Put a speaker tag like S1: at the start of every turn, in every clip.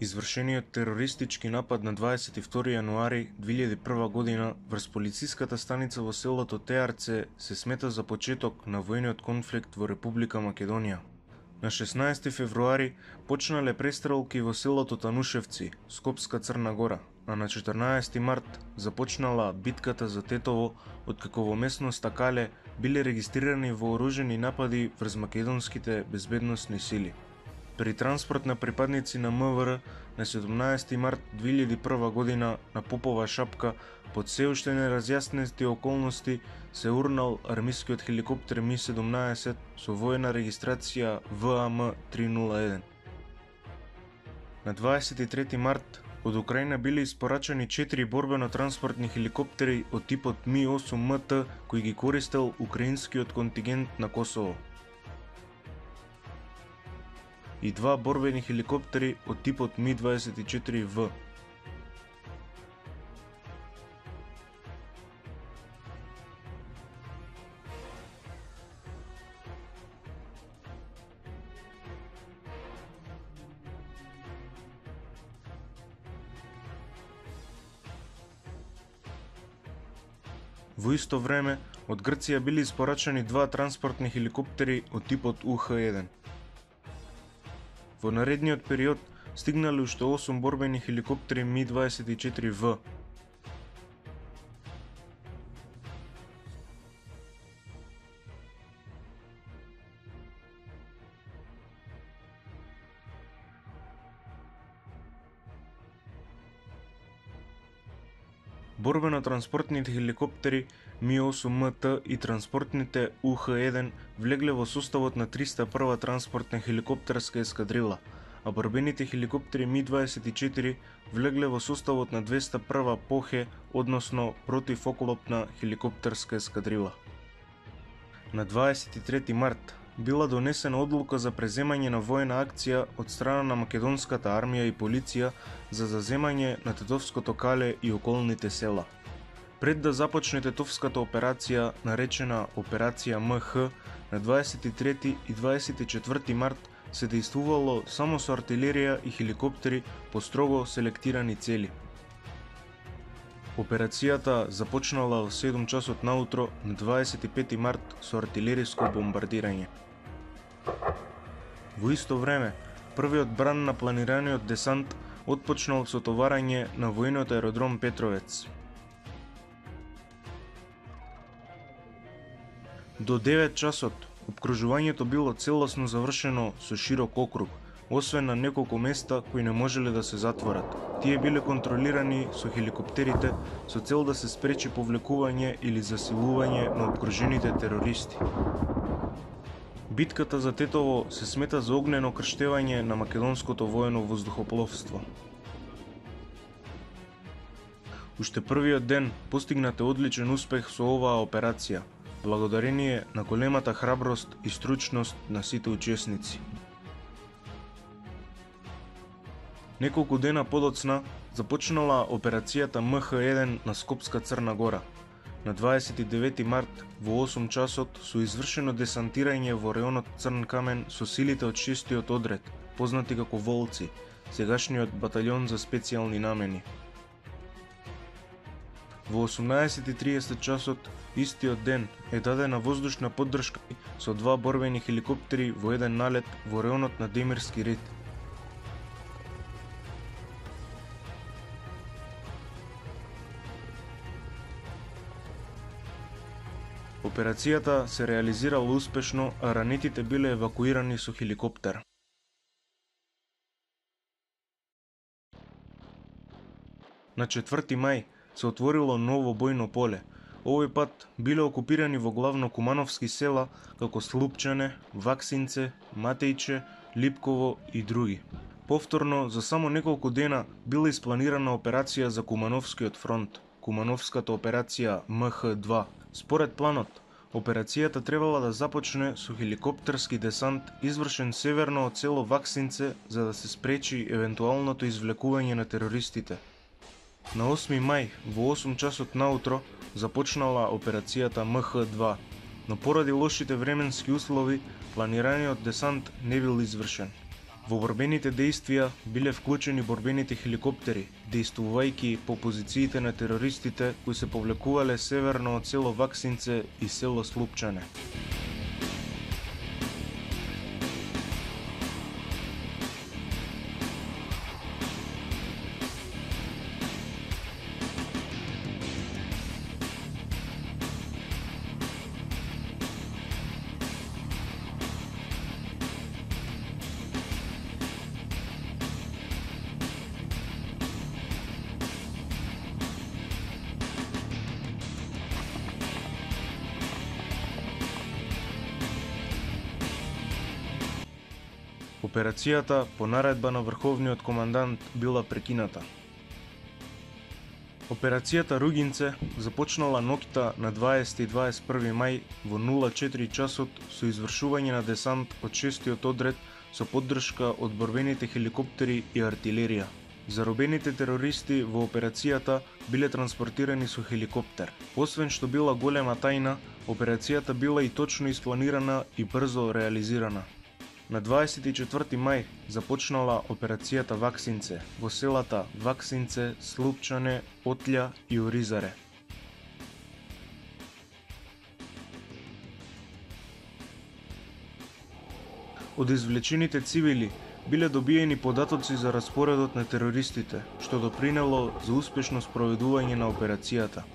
S1: Извршениот терористички напад на 22 јануари 2001 година врз полициската станица во селото Теарце се смета за почеток на војниот конфликт во Република Македонија. На 16 февруари почнале престрелки во селото Танушевци, Скопска Црна Гора, а на 14 март започнала битката за Тетово, откако во местноста Кале биле регистрирани вооружени напади врз македонските безбедносни сили. При транспорт на припадници на МВР на 17 март 2001 година на Попова шапка под се уште неразјаснети околности се урнал армискиот хеликоптер Ми-17 со војна регистрација ВАМ-301. На 23 март од Украина биле испорачани 4 борбено-транспортни хеликоптери од типот Ми-8МТ кои ги користел украинскиот контингент на Косово и 2 борбени хеликоптери од типот Ми-24В. Во исто време, од Грција биле испорачани 2 транспортни хеликоптери од типот УХ-1. Во наредниот период стигнале уште 8 борбени хеликоптери Ми-24В. Борбено-транспортните хеликоптери Ми-8МТ и транспортните УХ-1 влегле во составот на 301 транспортна хеликоптерска ескадрила, а борбените хеликоптери Ми-24 влегле во составот на 201 ПОХЕ, односно противоклопна хеликоптерска ескадрила. На 23 март била донесена одлука за преземање на војна акција од страна на македонската армија и полиција за заземање на Тетовското Кале и околните села. Пред да започне Тетовската операција, наречена Операција МХ, на 23 и 24 март се дејствувало само со артилерија и хеликоптери по строго селектирани цели. Операцијата започнала во 7 часот наутро на 25 март со артилериско бомбардирање. Во исто време, првиот бран на планираниот десант отпочнал со товарање на војниот аеродром Петровец. До 9 часот, опкружувањето било целосно завршено со широк округ, освен на неколку места кои не можеле да се затворат. Тие биле контролирани со хеликоптерите со цел да се спречи повлекување или засилување на опкружените терористи. Битката за Тетово се смета за огнено крштевање на македонското воено воздухопловство. Уште првиот ден постигнате одличен успех со оваа операција, благодарение на големата храброст и стручност на сите учесници. Неколку дена подоцна започнала операцијата МХ-1 на Скопска Црна Гора. На 29 март во 8 часот со извршено десантирање во реонот Црн Камен со силите од 6-тиот одред, познати како Волци, сегашниот баталјон за специјални намени. Во 18:30 часот истиот ден е дадена воздушна поддршка со 2 борбени хеликоптери во еден налет во реонот на Демирски рид. Операцијата се реализирала успешно, а ранетите биле евакуирани со хеликоптер. На 4 мај се отворило ново бојно поле. Овој пат биле окупирани во главно кумановски села како Слупчане, Ваксинце, Матејче, Липково и други. Повторно, за само неколку дена била испланирана операција за Кумановскиот фронт, Кумановската операција МХ-2. Според планот, операцијата требала да започне со хеликоптерски десант извршен северно од село Ваксинце за да се спречи евентуалното извлекување на терористите. На 8 мај во 8 часот наутро започнала операцијата МХ-2, но поради лошите временски услови планираниот десант не бил извршен. Во борбените дејствија биле вклучени борбените хеликоптери, дејствувајќи по позициите на терористите кои се повлекувале северно од село Ваксинце и село Слупчане. Операцијата по наредба на врховниот командант била прекината. Операцијата Ругинце започнала ноќта на 20 и 21 мај во 04 часот со извршување на десант од 6-тиот одред со поддршка од борбените хеликоптери и артилерија. Заробените терористи во операцијата биле транспортирани со хеликоптер. Освен што била голема тајна, операцијата била и точно испланирана и брзо реализирана. На 24 мај започнала операцијата Ваксинце во селата Ваксинце, Слупчане, Отлја и Оризаре. Од извлечените цивили биле добиени податоци за распоредот на терористите, што допринело за успешно спроведување на операцијата.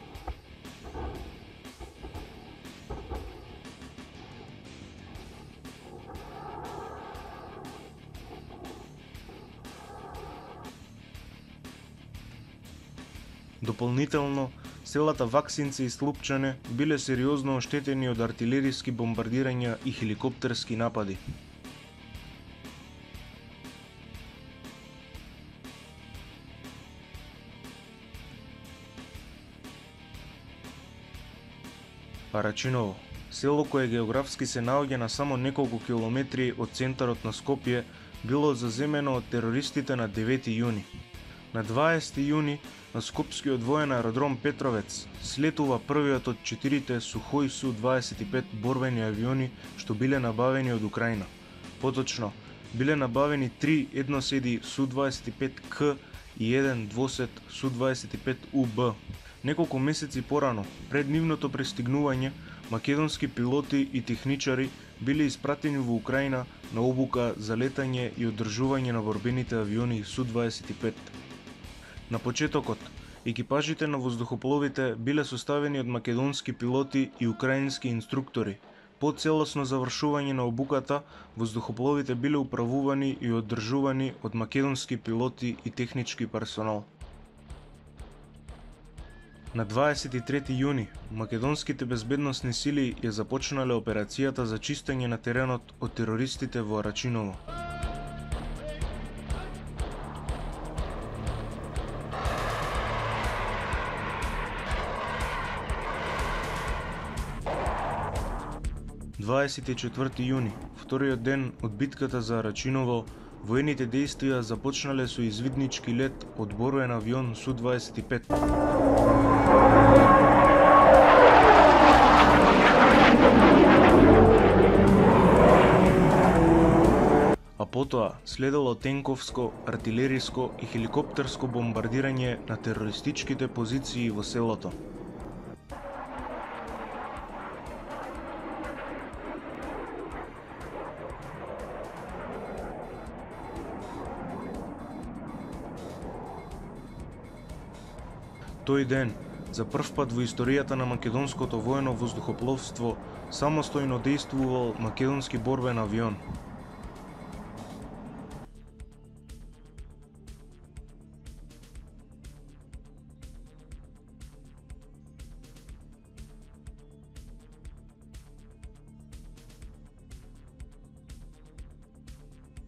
S1: Дополнително, селата Ваксинце и Слупчане биле сериозно оштетени од артилериски бомбардирања и хеликоптерски напади. Арачиново, село кое географски се наоѓа на само неколку километри од центарот на Скопје, било заземено од терористите на 9 јуни. На 20 јуни на скопскиот воен аеродром Петровец слетува првиот од 4 Сухој Су-25 борбени авиони што биле набавени од Украина. Поточно, биле набавени 3 едноседи Су-25К и 1 двосед Су-25УБ. Неколку месеци порано, пред нивното пристигнување, македонски пилоти и техничари биле испратени во Украина на обука за летање и одржување на борбените авиони Су-25. На почетокот, екипажите на воздухопловите биле составени од македонски пилоти и украински инструктори. По целосно завршување на обуката, воздухопловите биле управувани и одржувани од македонски пилоти и технички персонал. На 23 јуни, македонските безбедносни сили ја започнале операцијата за чистење на теренот од терористите во Арачиново. На 24 јуни, вториот ден од битката за Арачиново, воените дејствија започнале со извиднички лет од борбен авион Су-25. А потоа следело тенковско, артилериско и хеликоптерско бомбардирање на терористичките позиции во селото. Тој ден, за прв пат во историјата на македонското воено воздухопловство, самостојно дејствувал македонски борбен авион.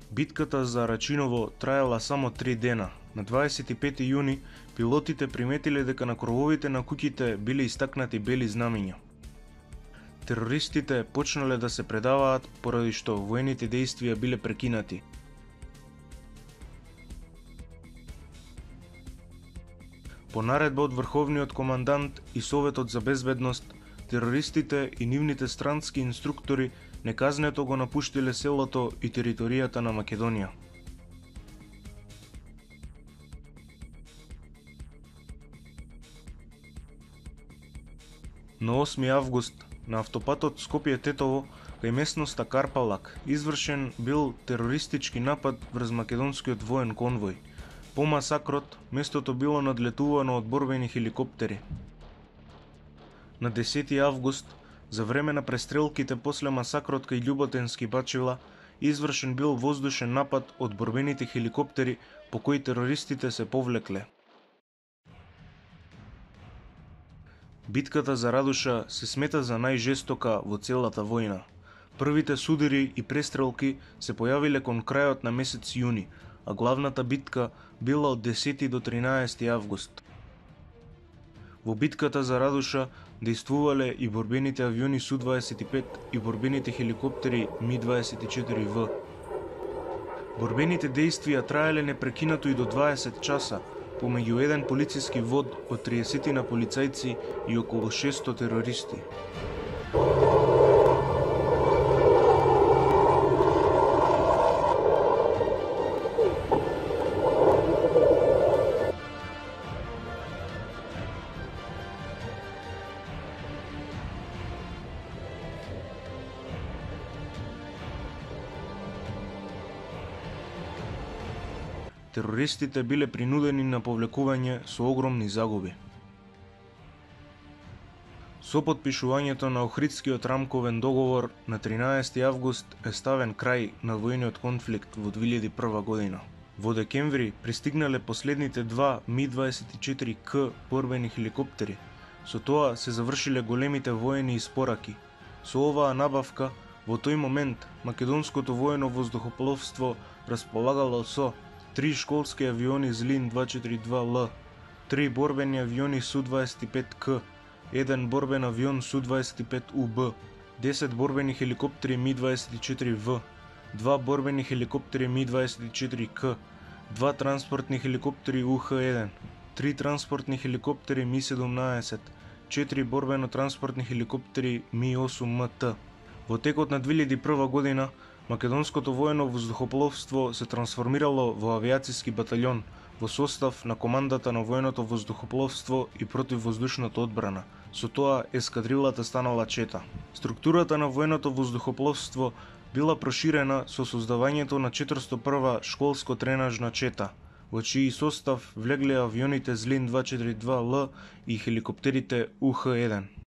S1: Битката за Арачиново траела само 3 дена. На 25 јуни пилотите приметиле дека на крововите на куќите биле истакнати бели знамиња. Терористите почнале да се предаваат поради што воените дејствија биле прекинати. По наредба од врховниот командант и Советот за безбедност, терористите и нивните странски инструктори неказнето го напуштиле селото и територијата на Македонија. На 8 август на автопатот Скопје-Тетово кај местноста Карпалак извршен бил терористички напад врз македонскиот воен конвој. По масакрот, местото било надлетувано од борбени хеликоптери. На 10 август, за време на престрелките после масакрот кај Љуботенски Бачила, извршен бил воздушен напад од борбените хеликоптери по кои терористите се повлекле. Битката за Радуша се смета за најжестока во целата војна. Првите судири и престрелки се појавиле кон крајот на месец јуни, а главната битка била од 10 до 13 август. Во битката за Радуша действувале и борбените авиони Су-25 и борбените хеликоптери Ми-24В. Борбените действија траеле непрекинато и до 20 часа, помеѓу еден полициски вод од 30 на полицајци и околу 600 терористи. Терористите биле принудени на повлекување со огромни загуби. Со потпишувањето на Охридскиот рамковен договор на 13 август е ставен крај на војниот конфликт во 2001 година. Во декември пристигнале последните два Ми-24К борбени хеликоптери. Со тоа се завршиле големите воени испораки. Со оваа набавка, во тој момент, македонското воено воздухопловство располагало со 3 школски авиони Злин-242Л, 3 борбени авиони Су-25К, 1 борбен авион Су-25УБ, 10 борбени хеликоптери Ми-24В, 2 борбени хеликоптери Ми-24К, 2 транспортни хеликоптери УХ-1, 3 транспортни хеликоптери Ми-17, 4 борбено-транспортни хеликоптери Ми-8МТ. Во текот на 2001 година, македонското воено воздухопловство се трансформирало во авиациски батальон во состав на командата на военото воздухопловство и противвоздушната одбрана. Со тоа ескадрилата станала чета. Структурата на военото воздухопловство била проширена со создавањето на 401 школско-тренажна чета, во чиј состав влегле авионите Злин-242Л и хеликоптерите УХ-1.